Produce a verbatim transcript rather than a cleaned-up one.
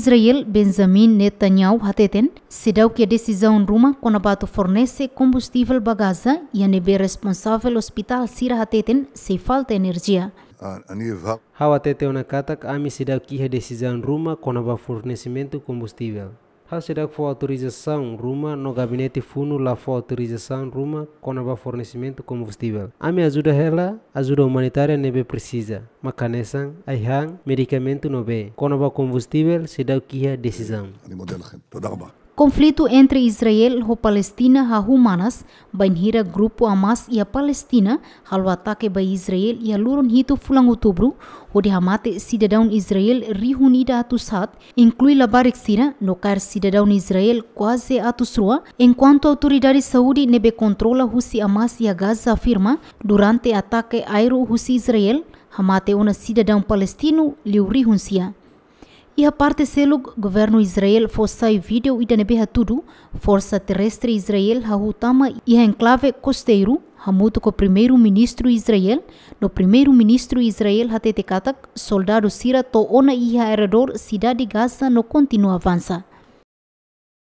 Israel Benjamin Netanyahu hateten seidauk iha desizaun ruma kona-ba atu fornese kombustivel ba Gaza, iha ne'ebé responsavel ospitál sira hateten sei falta enerjia. Ha'u hatete ona katak ami seidauk iha desizaun ruma kona-ba fornesimentu kombustivel. Ha'u seidauk fó autorizasaun ruma no gabinete funu la fó autorizasaun ruma kona-ba fornesimentu kombustivel. Ami ajuda hela ajuda umanitária ne'ebé presiza, mak hanesan ai-han, medikamentu no bee. Kona-ba kombustivel seidauk iha desizaun. Konflitu entre Israel ho Palestina hahú manas bainhira grupu Hamas iha Palestina halo atake ba Israel iha loron hitu fulan Outubru, hodi hamate sidadaun Israel rihun ida atus haat, inklui labarik sira, no kaer sidadaun Israel kuaze atus rua, enkuantu autoridade saúde ne'ebé kontrola husi Hamas iha Gaza afirma, durante atake aéreu husi Israel, hamate ona sidadaun palestinu liu rihun sia. Iha parte seluk, governu Israel fó sai vídeo ida ne'ebé hatudu forsa terrestre Israel hahú tama iha enklave kosteiru, hamutuk ho Primeiru-Ministru Israel, no Primeiru-Ministru Israel hatete katak soldadu sira to'o ona iha arredór sidade Gaza no kontinua avansa.